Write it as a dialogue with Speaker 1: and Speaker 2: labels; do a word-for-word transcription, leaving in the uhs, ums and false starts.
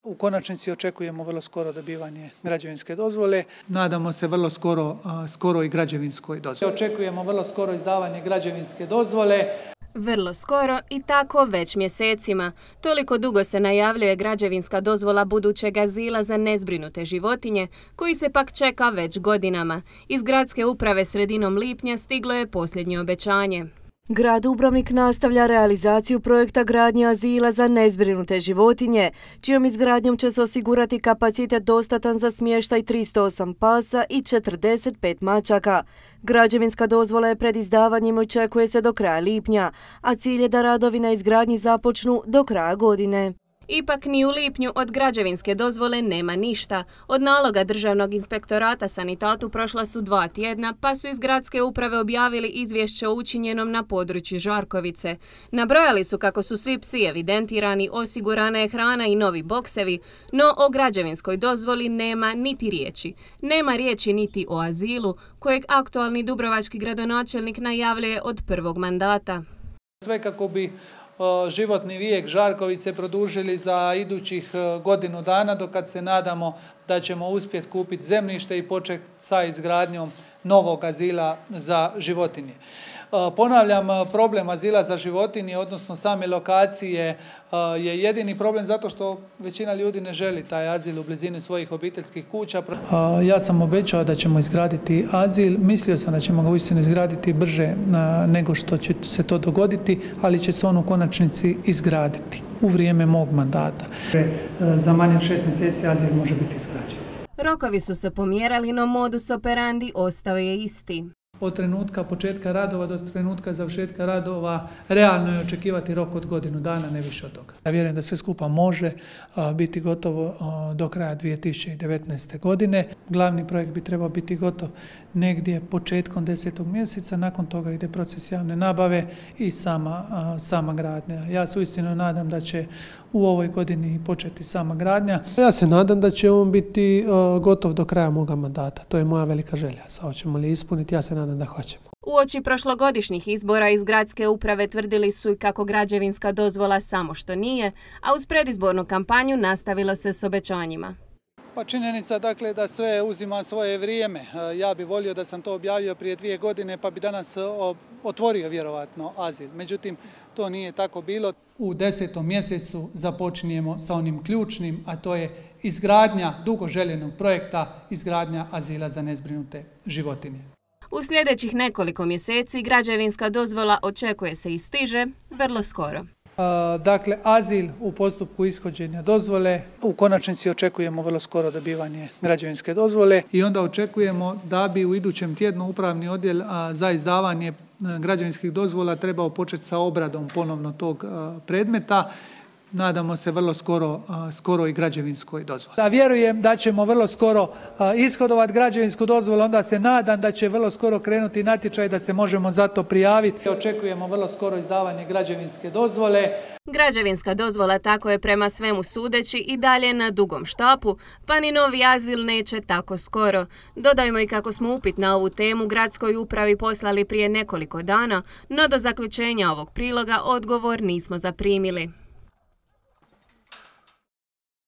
Speaker 1: U konačnici očekujemo vrlo skoro dobivanje građevinske dozvole. Nadamo se vrlo skoro, skoro i građevinskoj dozvoli. Očekujemo vrlo skoro izdavanje građevinske dozvole.
Speaker 2: Vrlo skoro i tako već mjesecima. Toliko dugo se najavljuje građevinska dozvola budućeg azila za nezbrinute životinje, koji se pak čeka već godinama. Iz gradske uprave sredinom lipnja stiglo je posljednje obećanje.
Speaker 3: Grad Dubrovnik nastavlja realizaciju projekta gradnje azila za nezbrinute životinje, čijom izgradnjom će se osigurati kapacitet dostatan za smještaj tristo osam pasa i četrdeset pet mačaka. Građevinska dozvola je pred izdavanjem i očekuje se do kraja lipnja, a cilj je da radovi na izgradnji započnu do kraja godine.
Speaker 2: Ipak ni u lipnju od građevinske dozvole nema ništa. Od naloga Državnog inspektorata Sanitatu prošla su dva tjedna, pa su iz gradske uprave objavili izvješće o učinjenom na području Žarkovice. Nabrojali su kako su svi psi evidentirani, osigurana je hrana i novi boksevi, no o građevinskoj dozvoli nema niti riječi. Nema riječi niti o azilu, kojeg aktualni dubrovački gradonačelnik najavljuje od prvog mandata.
Speaker 1: Sve kako bi životni vijek Žarkovice produžili za idućih godinu dana, dok kad se nadamo da ćemo uspjeti kupiti zemljište i početi sa izgradnjom novog azila za životinje. Ponavljam, problem azila za životinje, odnosno same lokacije, je jedini problem zato što većina ljudi ne želi taj azil u blizini svojih obiteljskih kuća. Ja sam obećao da ćemo izgraditi azil, mislio sam da ćemo ga uistinu izgraditi brže nego što će se to dogoditi, ali će se on u konačnici izgraditi u vrijeme mog mandata. Za manje od šest mjeseci azil može biti izgrađen.
Speaker 2: Rokovi su se pomjerali, no modus operandi ostao je isti.
Speaker 1: Od trenutka početka radova do trenutka završetka radova realno je očekivati rok od godinu dana, ne više od toga. Ja vjerujem da sve skupa može biti gotovo do kraja dvije tisuće devetnaeste. godine. Glavni projekt bi trebao biti gotov negdje početkom desetog mjeseca, nakon toga ide proces javne nabave i sama, sama gradnja. Ja se uistinu nadam da će u ovoj godini početi sama gradnja. Ja se nadam da će on biti gotov do kraja moga mandata. To je moja velika želja. Sad hoćemo li ispuniti, ja se nadam da hoćemo.
Speaker 2: Uoči prošlogodišnjih izbora iz gradske uprave tvrdili su i kako građevinska dozvola samo što nije, a uz predizbornu kampanju nastavilo se s obećanjima.
Speaker 1: Pa činjenica dakle da sve uzima svoje vrijeme. Ja bih volio da sam to objavio prije dvije godine pa bi danas otvorio vjerovatno azil. Međutim, to nije tako bilo. U desetom mjesecu započinjemo sa onim ključnim, a to je izgradnja dugo željenog projekta, izgradnja azila za nezbrinute životinje.
Speaker 2: U sljedećih nekoliko mjeseci građevinska dozvola očekuje se i stiže vrlo skoro.
Speaker 1: Dakle, azil u postupku ishođenja dozvole. U konačnici očekujemo vrlo skoro dobivanje građevinske dozvole i onda očekujemo da bi u idućem tjednu upravni odjel za izdavanje građevinskih dozvola trebao početi sa obradom ponovno tog predmeta. Nadamo se vrlo skoro, skoro i građevinskoj dozvoli. Da vjerujem da ćemo vrlo skoro ishodovati građevinsku dozvolu, onda se nadam da će vrlo skoro krenuti natječaj da se možemo za to prijaviti. Očekujemo vrlo skoro izdavanje građevinske dozvole.
Speaker 2: Građevinska dozvola tako je prema svemu sudeći i dalje na dugom štapu, pa ni novi azil neće tako skoro. Dodajmo i kako smo upit na ovu temu gradskoj upravi poslali prije nekoliko dana, no do zaključenja ovog priloga odgovor nismo zaprimili.